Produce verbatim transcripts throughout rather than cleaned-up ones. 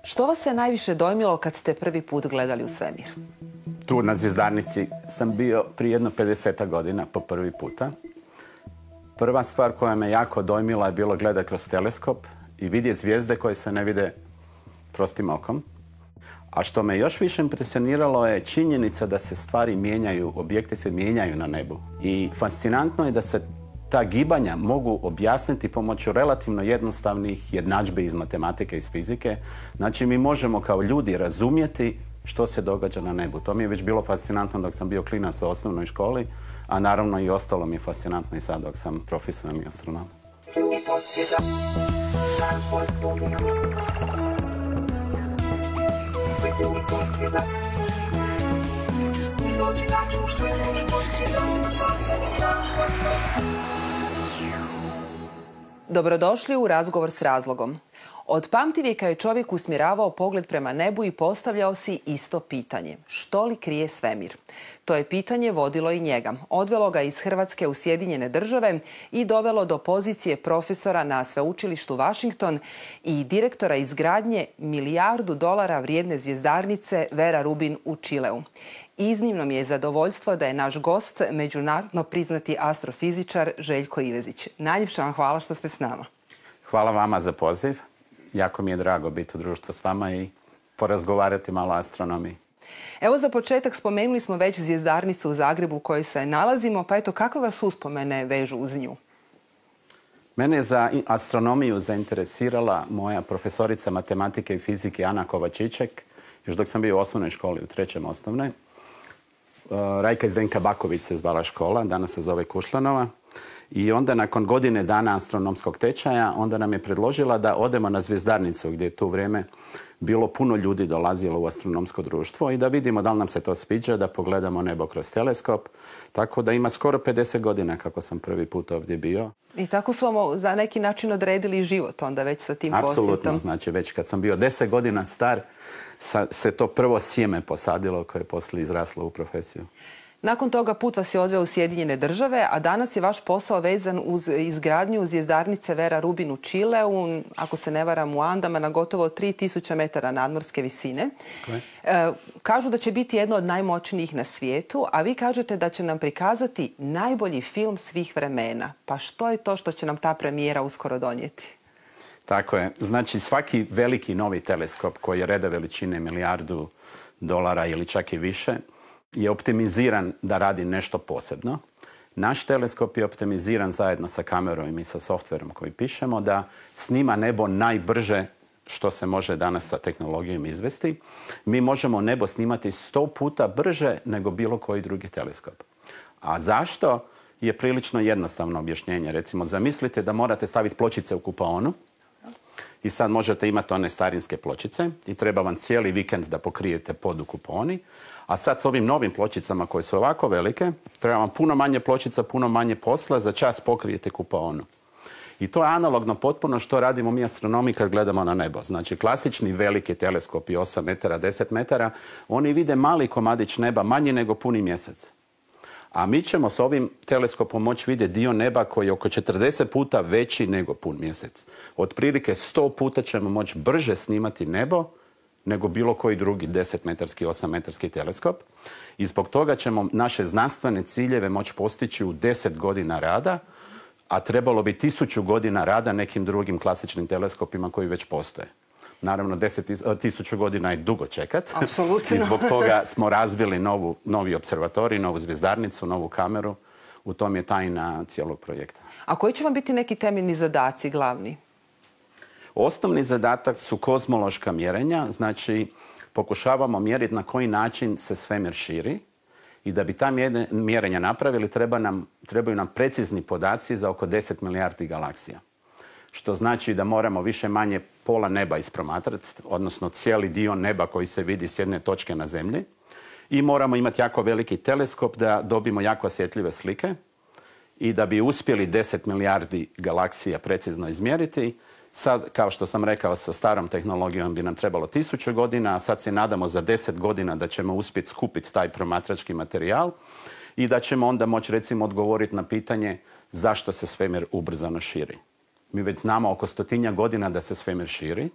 Što vas je najviše dojmilo kad ste prvi put gledali u svemir? Tu na Zvjezdarnici sam bio prije jedno pedesetak godina po prvi puta. Prva stvar koja me jako dojmila je bilo gledati kroz teleskop i vidjeti zvijezde koje se ne vide prostim okom. A što me još više impresioniralo je činjenica da se stvari mijenjaju, objekti se mijenjaju na nebu. I fascinantno je da se ta gibanja mogu objasniti pomoću relativno jednostavnih jednadžbi iz matematike i iz fizike. Znači, mi možemo kao ljudi razumjeti što se događa na nebu. To mi je već bilo fascinantno dok sam bio klinac u osnovnoj školi, a naravno i ostalo mi je fascinantno i sad dok sam profesionalni astronom. Dobrodošli u Razgovor s razlogom. Od pamtivijeka je čovjek usmjeravao pogled prema nebu i postavljao si isto pitanje. Što li krije svemir? To je pitanje vodilo i njega. Odvelo ga iz Hrvatske u Sjedinjene Države i dovelo do pozicije profesora na sveučilištu Washington i direktora izgradnje milijardu dolara vrijedne zvjezdarnice Vera Rubin u Čileu. Iznimno mi je zadovoljstvo da je naš gost međunarodno priznati astrofizičar Željko Ivezić. Najljepša vam hvala što ste s nama. Hvala vama za poziv. Jako mi je drago biti u društvu s vama i porazgovarati malo o astronomiji. Evo, za početak spomenuli smo već zvjezdarnicu u Zagrebu u kojoj se nalazimo, pa eto, kakve vas uspomene vežu uz nju? Mene je za astronomiju zainteresirala moja profesorica matematike i fizike Ana Kovačiček, još dok sam bio u osnovnoj školi, u trećem osnovne. Rajka Zdenka Baković se zvala škola, danas se zove Kušlanova. I onda nakon godine dana astronomskog tečaja, onda nam je predložila da odemo na Zvjezdarnicu gdje je tu vrijeme bilo puno ljudi dolazilo u astronomsko društvo i da vidimo da li nam se to sviđa, da pogledamo nebo kroz teleskop. Tako da ima skoro pedeset godina kako sam prvi put ovdje bio. I tako su vam za neki način odredili život onda već sa tim posjetom? Apsolutno, znači već kad sam bio deset godina star se to prvo sjeme posadilo koje je poslije izraslo u profesiju. Nakon toga put vas je odveo u Sjedinjene Države, a danas je vaš posao vezan uz izgradnju zvjezdarnice Vera Rubin u Čileu, ako se ne varam u Andama, na gotovo tri tisuće metara nadmorske visine. Okay. E, kažu da će biti jedno od najmoćnijih na svijetu, a vi kažete da će nam prikazati najbolji film svih vremena. Pa što je to što će nam ta premijera uskoro donijeti? Tako je. Znači, svaki veliki novi teleskop koji je reda veličine milijardu dolara ili čak i više je optimiziran da radi nešto posebno. Naš teleskop je optimiziran zajedno sa kamerom i sa softverom koji pišemo da snima nebo najbrže što se može danas sa tehnologijom izvesti. Mi možemo nebo snimati sto puta brže nego bilo koji drugi teleskop. A zašto? Je prilično jednostavno objašnjenje. Recimo, zamislite da morate staviti pločice u kupaonu i sad možete imati one starinske pločice i treba vam cijeli vikend da pokrijete pod u kupaoni. A sad s ovim novim pločicama koje su ovako velike, treba vam puno manje pločica, puno manje posla, za čas pokrijete kupaonu. I to je analogno potpuno što radimo mi astronomi kad gledamo na nebo. Znači, klasični veliki teleskopi osam metara, deset metara, oni vide mali komadić neba, manji nego puni mjesec. A mi ćemo s ovim teleskopom moći vidjeti dio neba koji je oko četrdeset puta veći nego pun mjesec. Otprilike sto puta ćemo moći brže snimati nebo nego bilo koji drugi desetmetarski, osammetarski teleskop. I zbog toga ćemo naše znanstvene ciljeve moći postići u deset godina rada, a trebalo bi tisuću godina rada nekim drugim klasičnim teleskopima koji već postoje. Naravno, deset tisuću godina je dugo čekat. Apsolutno. I zbog toga smo razvili novu, novi observatorij, novu zvjezdarnicu, novu kameru. U tom je tajna cijelog projekta. A koji će vam biti neki temeljni zadaci, glavni? Osnovni zadatak su kozmološka mjerenja, znači pokušavamo mjeriti na koji način se svemir širi i da bi ta mjerenja napravili treba nam, trebaju nam precizni podaci za oko deset milijardi galaksija. Što znači da moramo više manje pola neba ispromatrati, odnosno cijeli dio neba koji se vidi s jedne točke na zemlji. I moramo imati jako veliki teleskop da dobijemo jako osjetljive slike i da bi uspjeli deset milijardi galaksija precizno izmjeriti. Sad, kao što sam rekao, sa starom tehnologijom bi nam trebalo tisuću godina, a sad se nadamo za deset godina da ćemo uspjeti skupiti taj promatrački materijal i da ćemo onda moći, recimo, odgovoriti na pitanje zašto se svemir ubrzano širi. Mi već znamo oko stotinja godina da se svemir širi.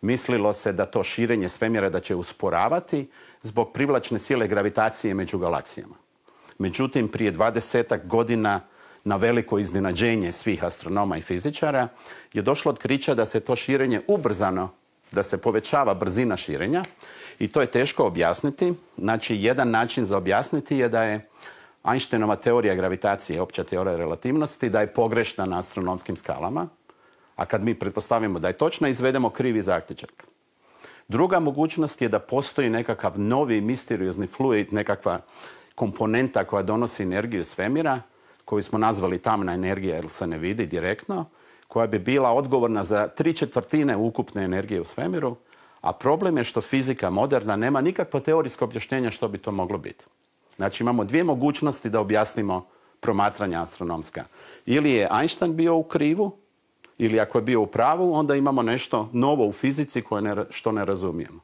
mislilo se da to širenje svemira da će usporavati zbog privlačne sile gravitacije među galaksijama. Međutim, prije dvadesetak godina na veliko iznenađenje svih astronoma i fizičara je došlo otkrića da se to širenje ubrzano, da se povećava brzina širenja i to je teško objasniti. Znači, jedan način za objasniti je da je Einsteinova teorija gravitacije, opća teorija relativnosti, da je pogrešna na astronomskim skalama, a kad mi pretpostavimo da je točna, izvedemo krivi zaključak. Druga mogućnost je da postoji nekakav novi misteriozni fluid, nekakva komponenta koja donosi energiju svemira, koju smo nazvali tamna energija jer se ne vidi direktno, koja bi bila odgovorna za tri četvrtine ukupne energije u svemiru, a problem je što fizika moderna nema nikakvo teorijsko objašnjenje što bi to moglo biti. Znači imamo dvije mogućnosti da objasnimo promatranja astronomska. Ili je Einstein bio u krivu, ili ako je bio u pravu, onda imamo nešto novo u fizici koje ne, što ne razumijemo.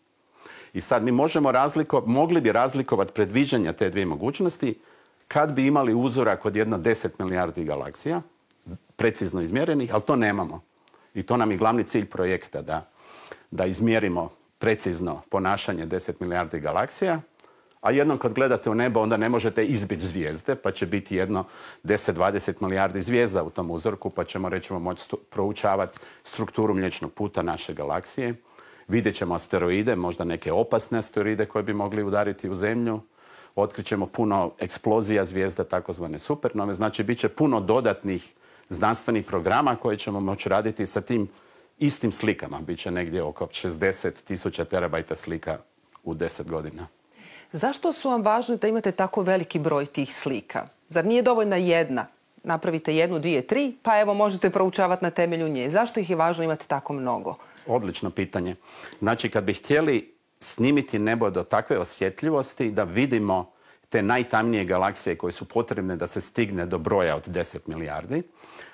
I sad mi možemo razlikovati, mogli bi razlikovati predviđanja te dvije mogućnosti kad bi imali uzorak od jedno deset milijardi galaksija, precizno izmjerenih, ali to nemamo. I to nam je glavni cilj projekta, da, da izmjerimo precizno ponašanje deset milijardi galaksija, a jednom kad gledate u nebo onda ne možete izbjeći zvijezde, pa će biti jedno deset do dvadeset milijardi zvijezda u tom uzorku, pa ćemo rećemo moći proučavati strukturu Mliječnog puta naše galaksije. Vidjet ćemo asteroide, možda neke opasne asteroide koje bi mogli udariti u Zemlju. Otkrićemo puno eksplozija zvijezda, takozvane supernove. Znači, bit će puno dodatnih znanstvenih programa koje ćemo moći raditi sa tim istim slikama. Biće negdje oko šezdeset tisuća terabajta slika u deset godina. Zašto su vam važno da imate tako veliki broj tih slika? Zar nije dovoljna jedna? Napravite jednu, dvije, tri, pa evo možete proučavati na temelju nje. Zašto ih je važno imati tako mnogo? Odlično pitanje. Znači, kad bi htjeli snimiti nebo do takve osjetljivosti da vidimo te najtamnije galaksije koje su potrebne da se stigne do broja od deset milijardi,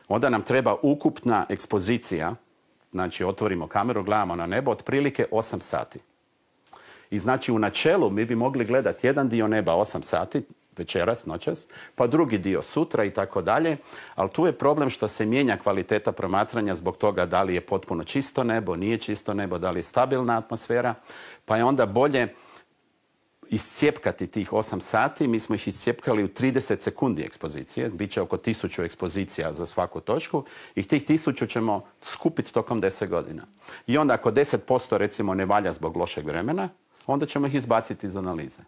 onda nam treba ukupna ekspozicija, znači otvorimo kameru, gledamo na nebo, otprilike osam sati. I znači u načelu mi bi mogli gledati jedan dio neba osam sati, večeras, noćas, pa drugi dio sutra i tako dalje, ali tu je problem što se mijenja kvaliteta promatranja zbog toga da li je potpuno čisto nebo, nije čisto nebo, da li je stabilna atmosfera, pa je onda bolje iscijepkati tih osam sati. Mi smo ih iscijepkali u trideset sekundi ekspozicije, bit će oko tisuću ekspozicija za svaku točku i tih tisuću ćemo skupiti tokom deset godina. I onda ako deset posto recimo ne valja zbog lošeg vremena, onda ćemo ih izbaciti iz analize.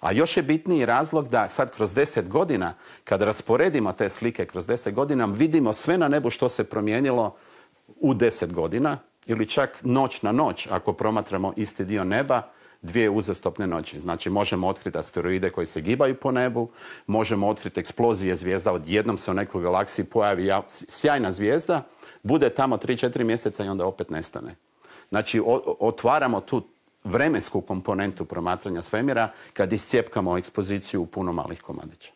A još je bitniji razlog da sad kroz deset godina, kad rasporedimo te slike kroz deset godina, vidimo sve na nebu što se promijenilo u deset godina ili čak noć na noć ako promatramo isti dio neba, dvije uzastopne noći. Znači možemo otkriti asteroide koji se gibaju po nebu, možemo otkriti eksplozije zvijezda, odjednom se u nekoj galaksiji pojavi sjajna zvijezda, bude tamo tri do četiri mjeseca i onda opet nestane. Znači otvaramo tu vremensku komponentu promatranja svemira kad iscijepkamo ekspoziciju u puno malih komadića.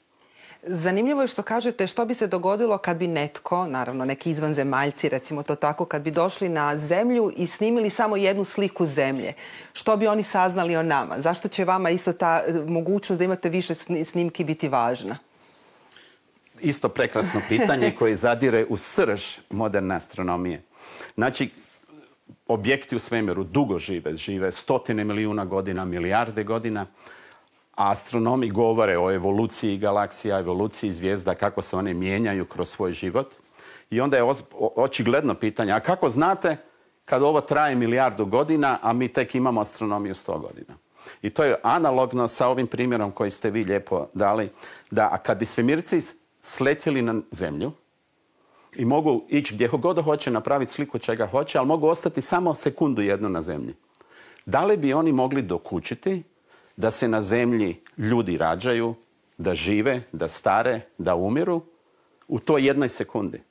Zanimljivo je što kažete što bi se dogodilo kad bi netko, naravno neki izvanzemaljci, recimo to tako, kad bi došli na Zemlju i snimili samo jednu sliku Zemlje. Što bi oni saznali o nama? Zašto će vama isto ta mogućnost da imate više snimki biti važna? Isto prekrasno pitanje koje zadire u srž moderne astronomije. Znači, objekti u svemiru dugo žive, žive stotine milijuna godina, milijarde godina, a astronomi govore o evoluciji galaksija, evoluciji zvijezda, kako se one mijenjaju kroz svoj život. I onda je očigledno pitanje, a kako znate kad ovo traje milijardu godina, a mi tek imamo astronomiju sto godina? I to je analogno sa ovim primjerom koji ste vi lijepo dali, da kad bi svemirci sletjeli na Zemlju, i mogu ići gdje god hoće, napraviti sliku čega hoće, ali mogu ostati samo sekundu jednu na Zemlji. Da li bi oni mogli dokučiti da se na Zemlji ljudi rađaju, da žive, da stare, da umiru u toj jednoj sekundi?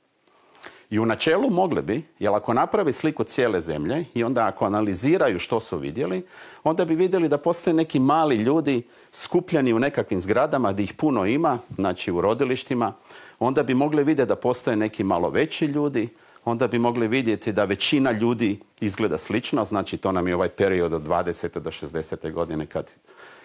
I u načelu mogli bi, jer ako napravi sliku cijele Zemlje i onda ako analiziraju što su vidjeli, onda bi vidjeli da postoje neki mali ljudi skupljeni u nekakvim zgradama gdje ih puno ima, znači u rodilištima, onda bi mogli vidjeti da postoje neki malo veći ljudi, onda bi mogli vidjeti da većina ljudi izgleda slično, znači to nam je ovaj period od dvadesete do šezdesete godine kad,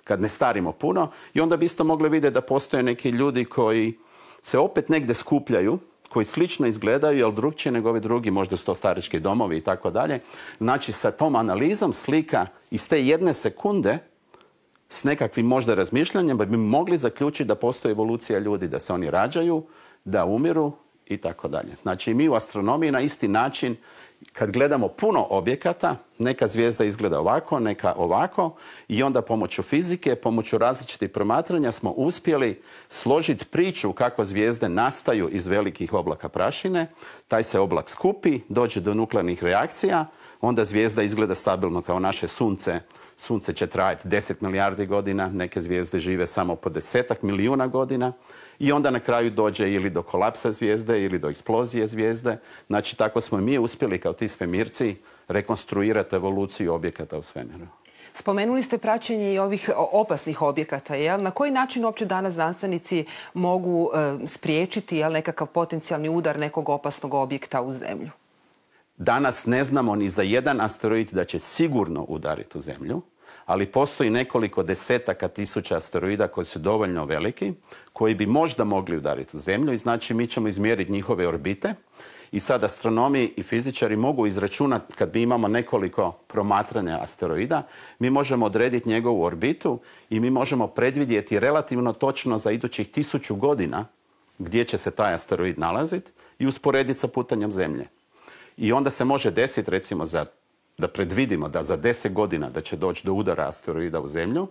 kad ne starimo puno, i onda bi isto mogli vidjeti da postoje neki ljudi koji se opet negdje skupljaju, koji slično izgledaju, ali drugčije nego ovi drugi, možda su to starički domovi i tako dalje. Znači, sa tom analizom slika iz te jedne sekunde s nekakvim možda razmišljanjem bi mogli zaključiti da postoji evolucija ljudi, da se oni rađaju, da umiru i tako dalje. Znači, mi u astronomiji na isti način, kad gledamo puno objekata, neka zvijezda izgleda ovako, neka ovako, i onda pomoću fizike, pomoću različitih promatranja smo uspjeli složiti priču kako zvijezde nastaju iz velikih oblaka prašine. Taj se oblak skupi, dođe do nuklearnih reakcija, onda zvijezda izgleda stabilno kao naše sunce. Sunce će trajati deset milijardi godina, neke zvijezde žive samo po desetak milijuna godina i onda na kraju dođe ili do kolapsa zvijezde ili do eksplozije zvijezde. Znači, tako smo mi uspjeli kao ti svemirci rekonstruirati evoluciju objekata u svemiru. Spomenuli ste praćenje i ovih opasnih objekata. Jel? Na koji način uopće danas znanstvenici mogu e, spriječiti jel, nekakav potencijalni udar nekog opasnog objekta u Zemlju? Danas ne znamo ni za jedan asteroid da će sigurno udariti u Zemlju, ali postoji nekoliko desetaka tisuća asteroida koji su dovoljno veliki, koji bi možda mogli udariti u Zemlju i znači mi ćemo izmjeriti njihove orbite i sad astronomi i fizičari mogu izračunati, kad mi imamo nekoliko promatranja asteroida, mi možemo odrediti njegovu orbitu i mi možemo predvidjeti relativno točno za idućih tisuću godina gdje će se taj asteroid nalaziti i usporediti sa putanjem Zemlje. I onda se može desiti, recimo, za, da predvidimo da za deset godina da će doći do udara asteroida u Zemlju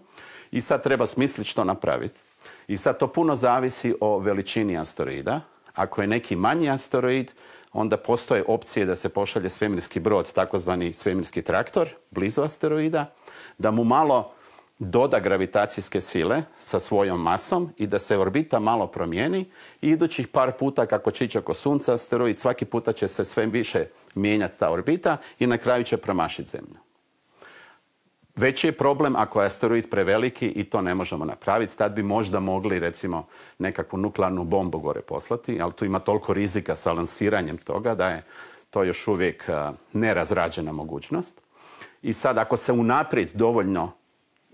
i sad treba smisliti što napraviti. I sad to puno zavisi o veličini asteroida. Ako je neki manji asteroid, onda postoje opcije da se pošalje svemirski brod, takozvani svemirski traktor, blizu asteroida, da mu malo doda gravitacijske sile sa svojom masom i da se orbita malo promijeni i idućih par puta kako će ići oko Sunca asteroid, svaki puta će se sve više mijenjati ta orbita i na kraju će promašiti Zemlju. Veći je problem ako je asteroid preveliki i to ne možemo napraviti. Tad bi možda mogli, recimo, nekakvu nuklearnu bombu gore poslati, ali tu ima toliko rizika sa lansiranjem toga da je to još uvijek uh, nerazrađena mogućnost. I sad ako se unaprijed dovoljno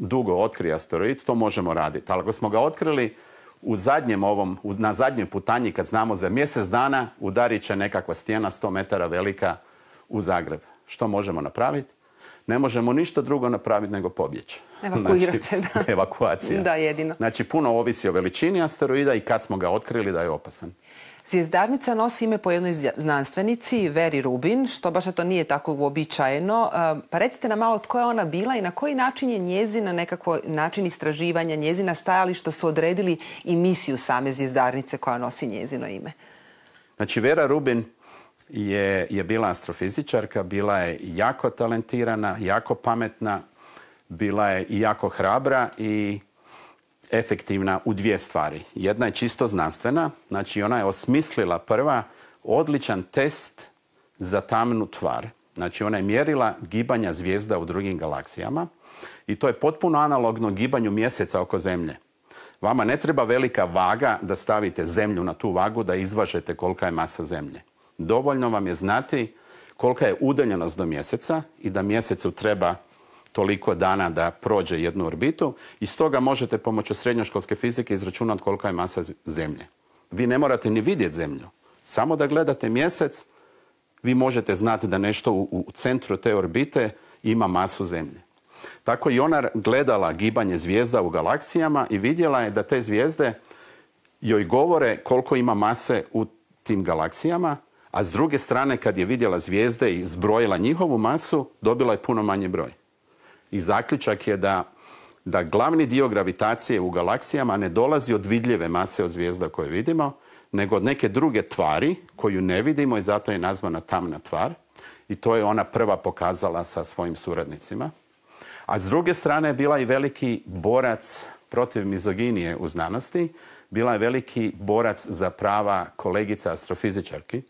dugo otkrije asteroid, to možemo raditi. Ali ako smo ga otkrili u zadnjem ovom, na zadnjoj putanji, kad znamo za mjesec dana, udarit će nekakva stijena sto metara velika u Zagreb. Što možemo napraviti? Ne možemo ništa drugo napraviti nego pobjeći. Evakuirati se, da. Evakuacija. Da, jedino. Znači, puno ovisi o veličini asteroida i kad smo ga otkrili da je opasan. Zvijezdarnica nosi ime po jednoj znanstvenici, Veri Rubin, što baš to nije tako uobičajeno. Pa recite nam malo tko je ona bila i na koji način je njezina nekako način istraživanja, njezina stajališta su odredili i misiju same zvijezdarnice koja nosi njezino ime. Znači, Vera Rubin je, je bila astrofizičarka, bila je jako talentirana, jako pametna, bila je i jako hrabra i efektivna u dvije stvari. Jedna je čisto znanstvena, znači ona je osmislila prva odličan test za tamnu tvar. Znači ona je mjerila gibanja zvijezda u drugim galaksijama i to je potpuno analogno gibanju mjeseca oko Zemlje. Vama ne treba velika vaga da stavite Zemlju na tu vagu da izvažete kolika je masa Zemlje. Dovoljno vam je znati kolika je udaljenost do mjeseca i da mjesecu treba toliko dana da prođe jednu orbitu i stoga možete pomoću srednjoškolske fizike izračunati kolika je masa Zemlje. Vi ne morate ni vidjeti Zemlju. Samo da gledate mjesec, vi možete znati da nešto u, u centru te orbite ima masu Zemlje. Tako i ona gledala gibanje zvijezda u galaksijama i vidjela je da te zvijezde joj govore koliko ima mase u tim galaksijama, a s druge strane kad je vidjela zvijezde i zbrojila njihovu masu, dobila je puno manji broj. I zaključak je da, da glavni dio gravitacije u galaksijama ne dolazi od vidljive mase od zvijezda koje vidimo, nego od neke druge tvari koju ne vidimo i zato je nazvana tamna tvar. I to je ona prva pokazala sa svojim suradnicima. A s druge strane je bila i veliki borac protiv mizoginije u znanosti. Bila je veliki borac za prava kolegica astrofizičarki.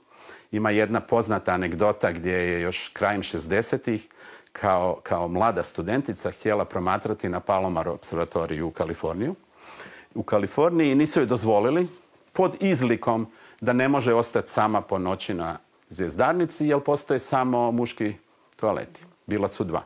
Ima jedna poznata anegdota gdje je još krajem šezdesetih Kao, kao mlada studentica htjela promatrati na Palomar observatoriju u Kaliforniju. U Kaliforniji nisu joj dozvolili pod izlikom da ne može ostati sama po noći na zvijezdarnici jer postoje samo muški toaleti. Bila su dva.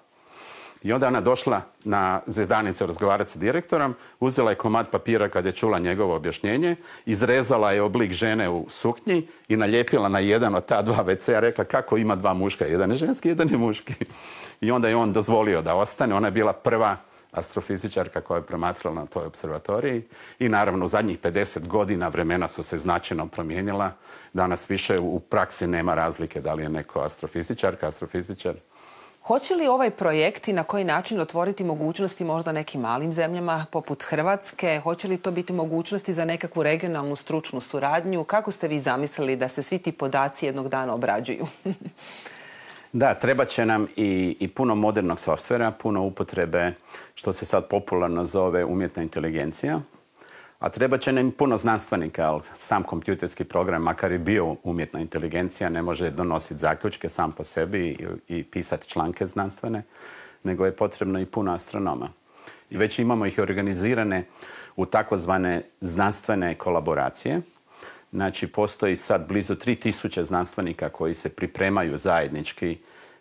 I onda ona došla na Zvijezdanicu razgovarati sa direktorom, uzela je komad papira kad je čula njegovo objašnjenje, izrezala je oblik žene u suknji i nalijepila na jedan od ta dva ve ce a, rekla kako ima dva muška, jedan je ženski, jedan je muški. I onda je on dozvolio da ostane. Ona je bila prva astrofizičarka koja je promatrala na toj observatoriji i naravno u zadnjih pedeset godina vremena su se značajno promijenila. Danas više u praksi nema razlike da li je neko astrofizičarka, astrofizičar. Hoće li ovaj projekt i na koji način otvoriti mogućnosti možda nekim malim zemljama poput Hrvatske? Hoće li to biti mogućnosti za nekakvu regionalnu stručnu suradnju? Kako ste vi zamislili da se svi ti podaci jednog dana obrađuju? Da, treba će nam i, i puno modernog softvera, puno upotrebe, što se sad popularno zove umjetna inteligencija. A treba će nam puno znanstvenika, ali sam kompjuterski program, makar i bio umjetna inteligencija, ne može donositi zaključke sam po sebi i, i pisati članke znanstvene, nego je potrebno i puno astronoma. I već imamo ih organizirane u takozvane znanstvene kolaboracije. Znači, postoji sad blizu tri tisuće znanstvenika koji se pripremaju zajednički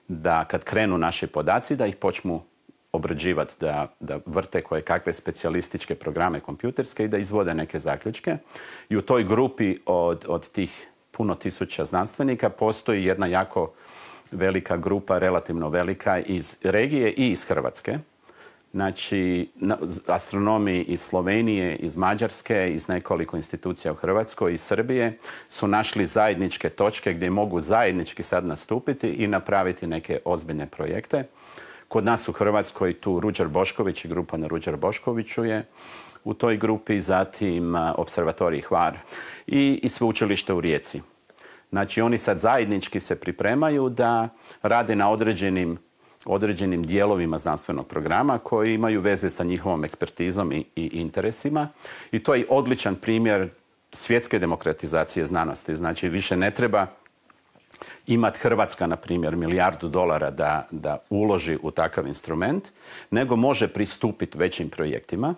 da kad krenu naši podaci, da ih počnu obrađivati, da, da vrte koje kakve specijalističke programe kompjuterske i da izvode neke zaključke. I u toj grupi od, od tih puno tisuća znanstvenika postoji jedna jako velika grupa, relativno velika, iz regije i iz Hrvatske. Znači, astronomi iz Slovenije, iz Mađarske, iz nekoliko institucija u Hrvatskoj, iz Srbije su našli zajedničke točke gdje mogu zajednički sad nastupiti i napraviti neke ozbiljne projekte. Kod nas u Hrvatskoj tu Ruđer Bošković i grupa na Ruđer Boškoviću je u toj grupi, zatim Observatorij Hvar i, i sveučilište u Rijeci. Znači, oni sad zajednički se pripremaju da rade na određenim određenim dijelovima znanstvenog programa koji imaju veze sa njihovom ekspertizom i, i interesima. I to je odličan primjer svjetske demokratizacije znanosti. Znači, više ne treba imati Hrvatska, na primjer, milijardu dolara da, da uloži u takav instrument, nego može pristupiti većim projektima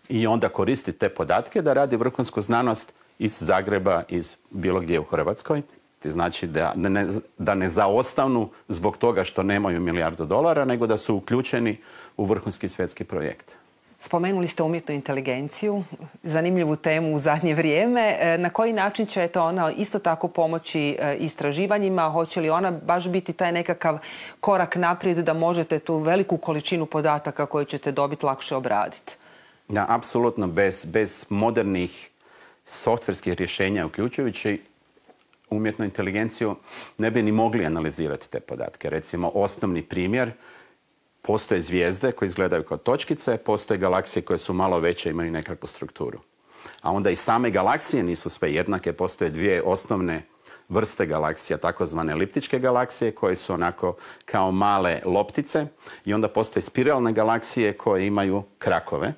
i onda koristiti te podatke da radi vrhunsku znanost iz Zagreba, iz bilo gdje u Hrvatskoj. Znači da ne, da ne zaostanu zbog toga što nemaju milijardu dolara, nego da su uključeni u vrhunski svjetski projekt. Spomenuli ste umjetnu inteligenciju, zanimljivu temu u zadnje vrijeme. Na koji način će to ona isto tako pomoći istraživanjima? Hoće li ona baš biti taj nekakav korak naprijed da možete tu veliku količinu podataka koju ćete dobiti lakše obraditi? Da, apsolutno. Bez, bez modernih softverskih rješenja, uključujući umjetnu inteligenciju, ne bi ni mogli analizirati te podatke. Recimo, osnovni primjer, postoje zvijezde koje izgledaju kao točkice, postoje galaksije koje su malo veće i imaju nekakvu strukturu. A onda i same galaksije nisu sve jednake, postoje dvije osnovne vrste galaksija, takozvane eliptičke galaksije, koje su onako kao male loptice, i onda postoje spiralne galaksije koje imaju krakove.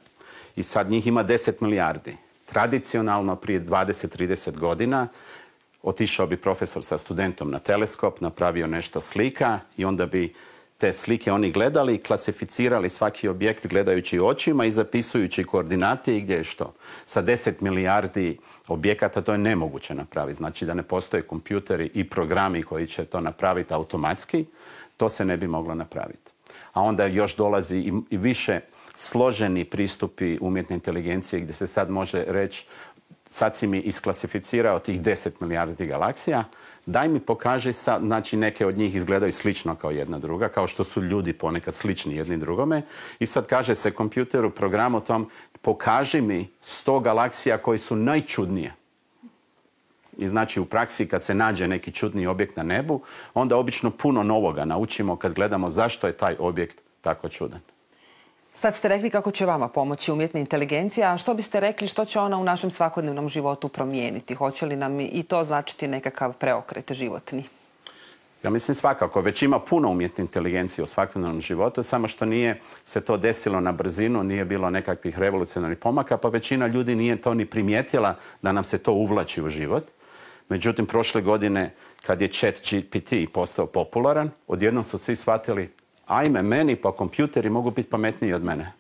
I sad njih ima deset milijardi. Tradicionalno, prije dvadeset do trideset godina, otišao bi profesor sa studentom na teleskop, napravio nešto slika i onda bi te slike oni gledali i klasificirali svaki objekt gledajući očima i zapisujući koordinate i gdje je što. Sa deset milijardi objekata to je nemoguće napraviti. Znači da ne postoje kompjuteri i programi koji će to napraviti automatski, to se ne bi moglo napraviti. A onda još dolazi i, i više složeni pristupi umjetne inteligencije gdje se sad može reći: sad si mi isklasificirao tih deset milijardi galaksija, daj mi pokaži sad, znači neke od njih izgledaju slično kao jedna druga, kao što su ljudi ponekad slični jedni drugome. I sad kaže se kompjuteru, programu tom, pokaži mi sto galaksija koji su najčudnije. I znači u praksi kad se nađe neki čudni objekt na nebu, onda obično puno novoga naučimo kad gledamo zašto je taj objekt tako čudan. Sad ste rekli kako će vama pomoći umjetna inteligencija, a što biste rekli što će ona u našem svakodnevnom životu promijeniti? Hoće li nam i to značiti nekakav preokret životni? Ja mislim svakako. Već ima puno umjetne inteligencije u svakodnevnom životu, samo što nije se to desilo na brzinu, nije bilo nekakvih revolucionarnih pomaka, pa većina ljudi nije to ni primijetila da nam se to uvlači u život. Međutim, prošle godine kad je Chat G P T postao popularan, odjednom su svi shvatili: ajme, meni pa kompjuteri mogu biti pametniji od mene.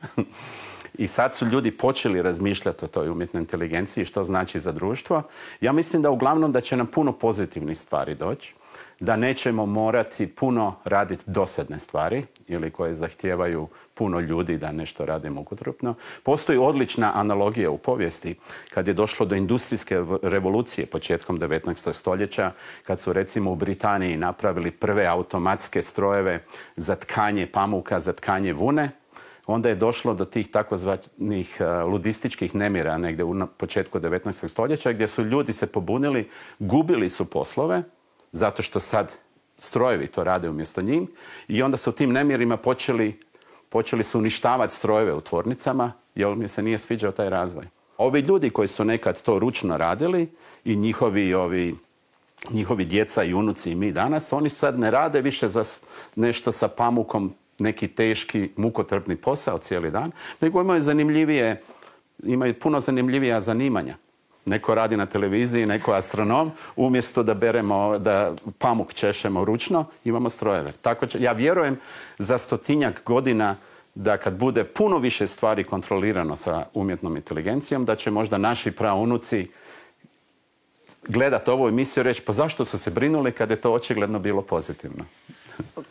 I sad su ljudi počeli razmišljati o toj umjetnoj inteligenciji, što znači za društvo. Ja mislim da uglavnom da će nam puno pozitivnih stvari doći. da nećemo morati puno raditi dosadne stvari ili koje zahtijevaju puno ljudi da nešto rade mukotrpno. Postoji odlična analogija u povijesti kad je došlo do industrijske revolucije početkom devetnaestog stoljeća, kad su recimo u Britaniji napravili prve automatske strojeve za tkanje pamuka, za tkanje vune. Onda je došlo do tih takozvanih ludističkih nemira negdje u početku devetnaestog stoljeća gdje su ljudi se pobunili, gubili su poslove zato što sad strojevi to rade umjesto njih i onda su tim nemirima počeli, počeli su uništavati strojeve u tvornicama jer mi se nije sviđao taj razvoj. Ovi ljudi koji su nekad to ručno radili i njihovi, ovi, njihovi djeca i unuci i mi danas, oni sad ne rade više za nešto sa pamukom, neki teški, mukotrpni posao cijeli dan, nego imaju zanimljivije, imaju puno zanimljivija zanimanja. Neko radi na televiziji, neko astronom, umjesto da beremo, da pamuk češemo ručno, imamo strojeve. Tako će, ja vjerujem za stotinjak godina da kad bude puno više stvari kontrolirano sa umjetnom inteligencijom, da će možda naši praunuci gledati ovu emisiju i reći pa zašto su se brinuli kad je to očigledno bilo pozitivno.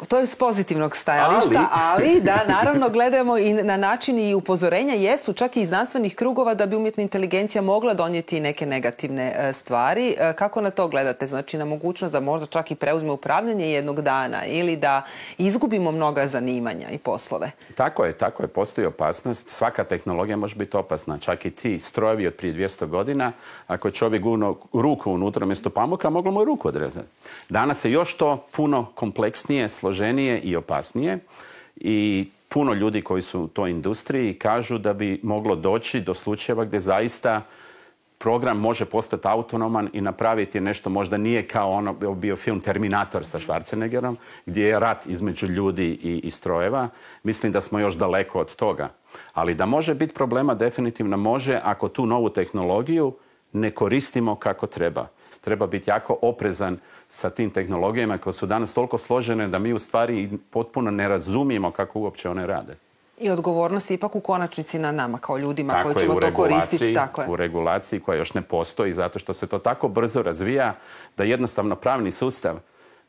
To je s pozitivnog stajališta, ali, ali da, naravno, gledamo i na način i upozorenja jesu čak i iz znanstvenih krugova da bi umjetna inteligencija mogla donijeti neke negativne stvari. Kako na to gledate? Znači, na mogućnost da možda čak i preuzme upravljanje jednog dana ili da izgubimo mnoga zanimanja i poslove? Tako je, tako je. Postoji opasnost. Svaka tehnologija može biti opasna. Čak i ti strojevi od prije dvjesto godina, ako je čovjek gurnuo ruku unutra mjesto pamuka, moglo mu je ruku odrezati. Danas je još to puno kompleksnije, složenije i opasnije i puno ljudi koji su u toj industriji kažu da bi moglo doći do slučajeva gdje zaista program može postati autonoman i napraviti nešto, možda nije kao ono bio film Terminator sa Schwarzeneggerom, gdje je rat između ljudi i, i strojeva. Mislim da smo još daleko od toga. Ali da može biti problema, definitivno može ako tu novu tehnologiju ne koristimo kako treba. Treba biti jako oprezan sa tim tehnologijama koje su danas toliko složene da mi u stvari potpuno ne razumijemo kako uopće one rade. I odgovornost je ipak u konačnici na nama kao ljudima tako koji ćemo to koristiti. Tako je, u regulaciji koja još ne postoji zato što se to tako brzo razvija da jednostavno pravni sustav,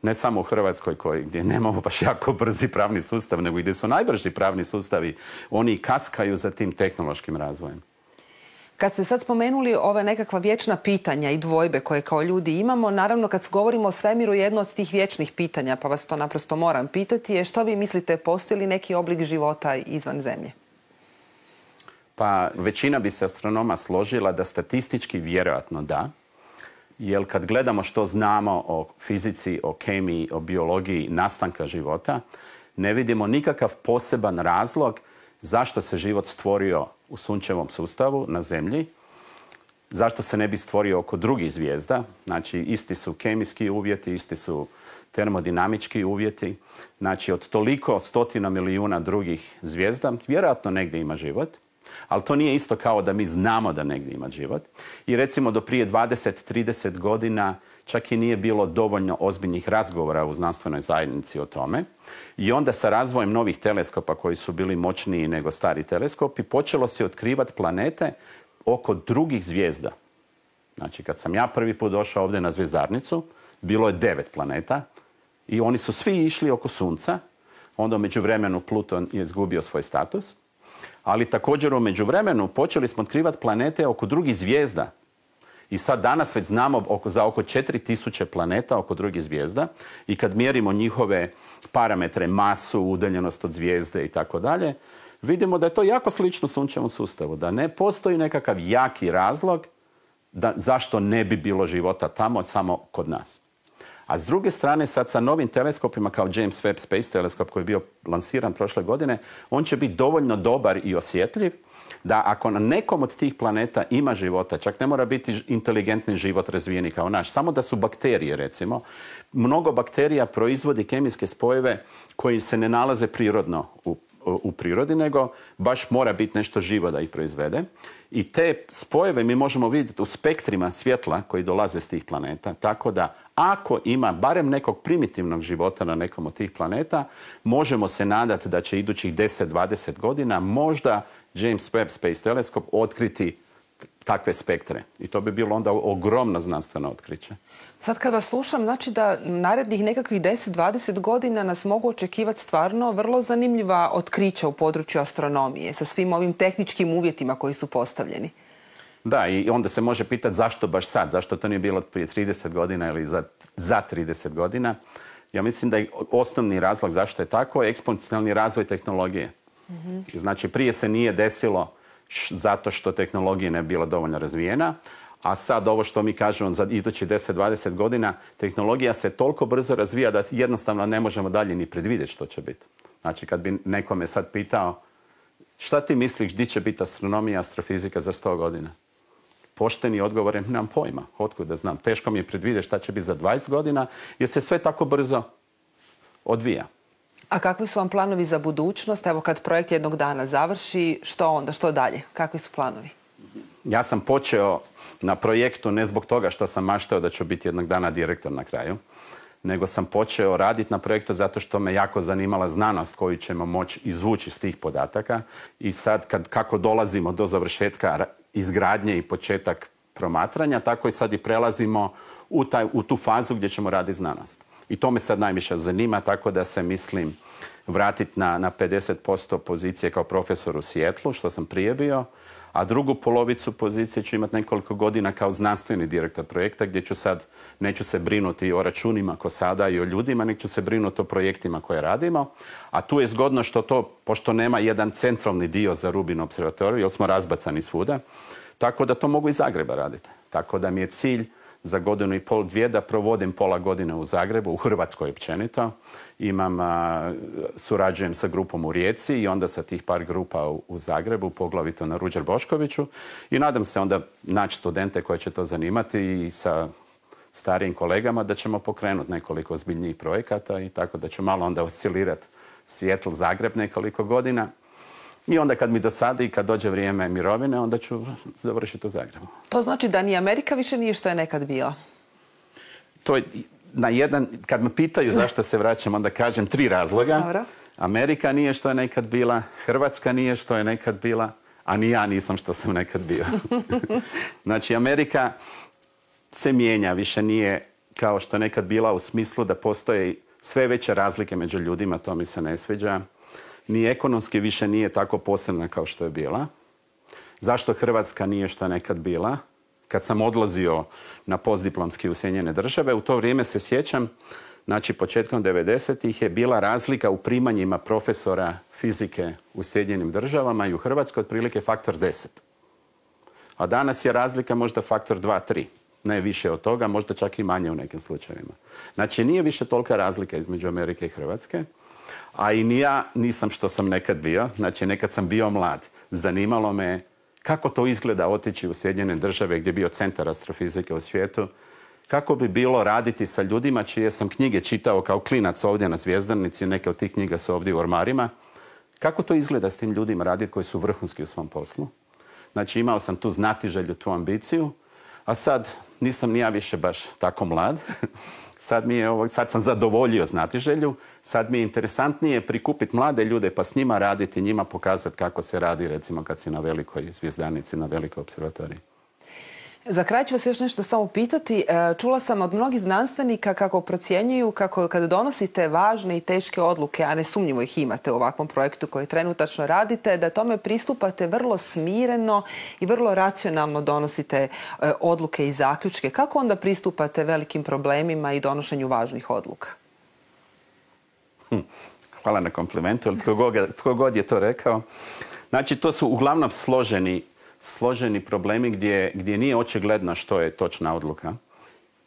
ne samo u Hrvatskoj koji, gdje nemamo baš jako brzi pravni sustav, nego gdje su najbrži pravni sustavi, oni kaskaju za tim tehnološkim razvojem. Kad ste sad spomenuli ove nekakva vječna pitanja i dvojbe koje kao ljudi imamo, naravno kad govorimo o svemiru, jedno od tih vječnih pitanja, pa vas to naprosto moram pitati, je što vi mislite, postoji li neki oblik života izvan Zemlje? Pa većina bi se astronoma složila da statistički vjerojatno da, jer kad gledamo što znamo o fizici, o kemiji, o biologiji nastanka života, ne vidimo nikakav poseban razlog zašto se život stvorio u sunčevom sustavu na Zemlji, zašto se ne bi stvorio oko drugih zvijezda. Znači, isti su kemijski uvjeti, isti su termodinamički uvjeti. Znači, od toliko stotina milijuna drugih zvijezda, vjerojatno negdje ima život, ali to nije isto kao da mi znamo da negdje ima život. I recimo do prije dvadeset do trideset godina čak i nije bilo dovoljno ozbiljnih razgovora u znanstvenoj zajednici o tome. I onda sa razvojem novih teleskopa koji su bili moćniji nego stari teleskopi, počelo se otkrivati planete oko drugih zvijezda. Znači, kad sam ja prvi put došao ovdje na zvijezdarnicu, bilo je devet planeta i oni su svi išli oko Sunca. Onda u međuvremenu Pluton je izgubio svoj status. Ali također u međuvremenu počeli smo otkrivati planete oko drugih zvijezda. I sad danas već znamo oko, za oko četiri tisuće planeta oko drugih zvijezda i kad mjerimo njihove parametre, masu, udaljenost od zvijezde i tako dalje, vidimo da je to jako slično sunčevom sustavu, da ne postoji nekakav jaki razlog da, zašto ne bi bilo života tamo samo kod nas. A s druge strane, sad sa novim teleskopima kao James Webb Space teleskop koji je bio lansiran prošle godine, on će biti dovoljno dobar i osjetljiv da ako na nekom od tih planeta ima života, čak ne mora biti inteligentni život razvijeni kao naš, samo da su bakterije recimo, mnogo bakterija proizvodi kemijske spojeve koji se ne nalaze prirodno u, u prirodi, nego baš mora biti nešto živo da ih proizvede. I te spojeve mi možemo vidjeti u spektrima svjetla koji dolaze s tih planeta, tako da ako ima barem nekog primitivnog života na nekom od tih planeta, možemo se nadati da će idućih deset do dvadeset godina možda James Webb Space teleskop otkriti takve spektre. I to bi bilo onda ogromno znanstveno otkriće. Sad kad vas slušam, znači da narednih nekakvih deset do dvadeset godina nas mogu očekivati stvarno vrlo zanimljiva otkrića u području astronomije sa svim ovim tehničkim uvjetima koji su postavljeni. Da, i onda se može pitati zašto baš sad, zašto to nije bilo prije trideset godina ili za, za trideset godina. Ja mislim da je osnovni razlog zašto je tako je eksponencijalni razvoj tehnologije. Mm-hmm. Znači, prije se nije desilo š, zato što tehnologija ne bila dovoljno razvijena, a sad ovo što mi kažemo za idućih deset do dvadeset godina, tehnologija se toliko brzo razvija da jednostavno ne možemo dalje ni predvidjeti što će biti. Znači, kad bi nekome sad pitao šta ti misliš gdje će biti astronomija i astrofizika za sto godina? Pošteni odgovor je, nemam pojma, otkud da znam. Teško mi je predvidjeti šta će biti za dvadeset godina, jer se sve tako brzo odvija. A kakvi su vam planovi za budućnost? Evo kad projekt jednog dana završi, što onda, što dalje? Kakvi su planovi? Ja sam počeo na projektu ne zbog toga što sam maštao da ću biti jednog dana direktor na kraju, nego sam počeo raditi na projektu zato što me jako zanimala znanost koju ćemo moći izvući iz tih podataka. I sad kad, kako dolazimo do završetka izgradnje i početak promatranja, tako i sad i prelazimo u, taj, u tu fazu gdje ćemo raditi znanost. I to me sad najviše zanima, tako da se mislim vratiti na, na pedeset posto pozicije kao profesor u Sijetlu, što sam prije bio, a drugu polovicu pozicije ću imati nekoliko godina kao znanstveni direktor projekta, gdje ću sad, neću se brinuti o računima ko sada i o ljudima, nek ću se brinuti o projektima koje radimo. A tu je zgodno što to, pošto nema jedan centralni dio za Rubin observatoriju, jer smo razbacani svuda, tako da to mogu iz Zagreba raditi. Tako da mi je cilj za godinu i pol, dvije, da provodim pola godine u Zagrebu, u Hrvatskoj općenito. Imam, a, surađujem sa grupom u Rijeci i onda sa tih par grupa u, u Zagrebu, poglavito na Ruđer Boškoviću. I nadam se onda naći studente koje će to zanimati i sa starijim kolegama da ćemo pokrenuti nekoliko ozbiljnijih projekata i tako da ću malo onda oscilirati Seattle, Zagreb nekoliko godina. I onda kad mi dosadi i kad dođe vrijeme mirovine, onda ću završiti u Zagrebu. To znači da ni Amerika više nije što je nekad bila? To je na jedan, kad me pitaju zašto se vraćam, onda kažem tri razloga. Dobro. Amerika nije što je nekad bila, Hrvatska nije što je nekad bila, a ni ja nisam što sam nekad bio. Znači, Amerika se mijenja, više nije kao što je nekad bila u smislu da postoje sve veće razlike među ljudima, to mi se ne sviđa. Ni ekonomski više nije tako posebna kao što je bila. Zašto Hrvatska nije što je nekad bila? Kad sam odlazio na postdiplomski u Sjedinjene Države, u to vrijeme se sjećam, znači početkom devedesetih je bila razlika u primanjima profesora fizike u Sjedinjenim Državama i u Hrvatskoj otprilike faktor deset. A danas je razlika možda faktor dva tri. Ne više od toga, možda čak i manje u nekim slučajevima. Znači nije više tolika razlika između Amerike i Hrvatske. A i ni ja nisam što sam nekad bio. Znači, nekad sam bio mlad. Zanimalo me kako to izgleda otići u Sjedinjene Države gdje je bio centar astrofizike u svijetu. Kako bi bilo raditi sa ljudima čije sam knjige čitao kao klinac ovdje na Zvjezdanici. Neke od tih knjiga su ovdje u ormarima. Kako to izgleda s tim ljudima raditi koji su vrhunski u svom poslu. Znači, imao sam tu znatiželju, tu ambiciju. A sad nisam ni ja više baš tako mlad. Sad, mi je ovo, sad sam zadovoljio znatiželju, sad mi je interesantnije prikupiti mlade ljude pa s njima raditi, njima pokazati kako se radi recimo kad si na velikoj Zvjezdanici, na velikoj observatoriji. Za kraj ću vas još nešto samo pitati. Čula sam od mnogih znanstvenika kako procjenjuju kako kada donosite važne i teške odluke, a nesumnjivo ih imate u ovakvom projektu koji trenutačno radite, da tome pristupate vrlo smireno i vrlo racionalno donosite odluke i zaključke. Kako onda pristupate velikim problemima i donošenju važnih odluka? Hm, hvala na komplimentu, ali tko god, tko god je to rekao. Znači, to su uglavnom složeni složeni problemi gdje, gdje nije očigledno što je točna odluka.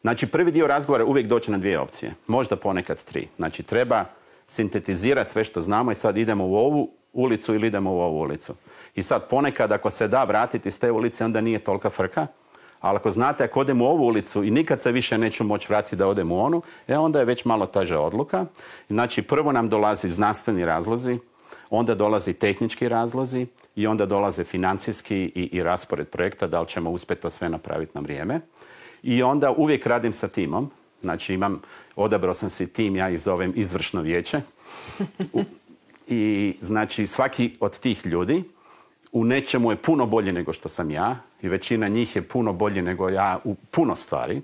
Znači, prvi dio razgovora uvijek doći na dvije opcije. Možda ponekad tri. Znači, treba sintetizirati sve što znamo i sad idemo u ovu ulicu ili idemo u ovu ulicu. I sad ponekad ako se da vratiti s te ulice, onda nije tolika frka. Ali ako znate, ako odem u ovu ulicu i nikad se više neću moći vratiti da odem u onu, e, onda je već malo teža odluka. Znači, prvo nam dolazi znanstveni razlozi, onda dolazi tehnički razlozi i onda dolaze financijski i, i raspored projekta, da li ćemo uspjeti to sve napraviti na vrijeme. I onda uvijek radim sa timom. Znači imam, odabrao sam si tim, ja ih zovem izvršno vijeće. I znači svaki od tih ljudi u nečemu je puno bolji nego što sam ja i većina njih je puno bolji nego ja u puno stvari.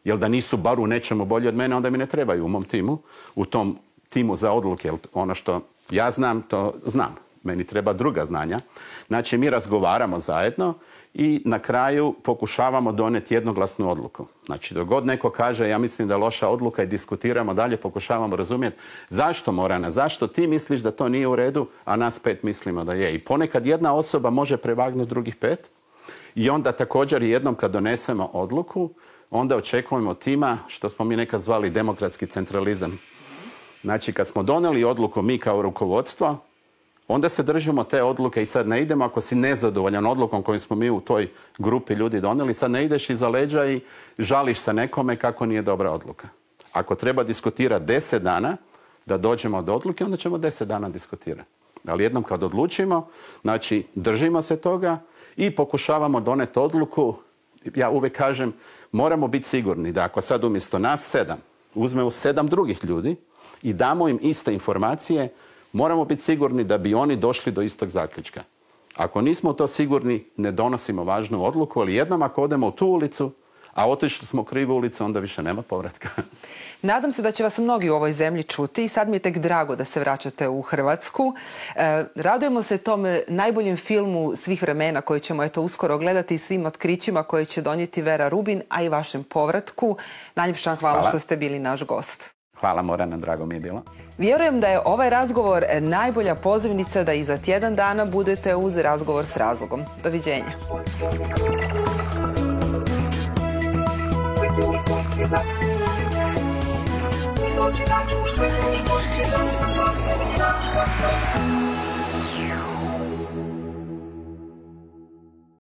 Jer da nisu bar u nečemu bolji od mene, onda mi ne trebaju u mom timu, u tom timu za odluke. Jer ono što ja znam, to znam. Meni treba druga znanja. Znači, mi razgovaramo zajedno i na kraju pokušavamo donijeti jednoglasnu odluku. Znači, dok god neko kaže ja mislim da je loša odluka i diskutiramo dalje, pokušavamo razumjeti zašto, Morana, zašto ti misliš da to nije u redu, a nas pet mislimo da je. I ponekad jedna osoba može prevagnuti drugih pet i onda također jednom kad donesemo odluku, onda očekujemo tima, što smo mi nekad zvali demokratski centralizam. Znači, kad smo donijeli odluku mi kao rukovodstvo, onda se držimo te odluke i sad ne idemo ako si nezadovoljan odlukom koju smo mi u toj grupi ljudi donijeli, sad ne ideš iza leđa i žališ se nekome kako nije dobra odluka. Ako treba diskutirati deset dana da dođemo do odluke, onda ćemo deset dana diskutirati. Ali jednom kad odlučimo, znači držimo se toga i pokušavamo doneti odluku. Ja uvijek kažem, moramo biti sigurni da ako sad umjesto nas sedam, uzmemo sedam drugih ljudi i damo im iste informacije, moramo biti sigurni da bi oni došli do istog zaključka. Ako nismo to sigurni, ne donosimo važnu odluku, ali jednom ako odemo u tu ulicu, a otišli smo u krivu ulicu, onda više nema povratka. Nadam se da će vas mnogi u ovoj zemlji čuti i sad mi je tek drago da se vraćate u Hrvatsku. E, radujemo se tom najboljem filmu svih vremena koji ćemo eto uskoro gledati i svim otkrićima koje će donijeti Vera Rubin, a i vašem povratku. Najljepša hvala, hvala što ste bili naš gost. Hvala, Morana, drago mi je bilo. Vjerujem da je ovaj razgovor najbolja pozivnica da i za tjedan dana budete uz Razgovor s razlogom. Doviđenja. Izloči na čuštve i počne da se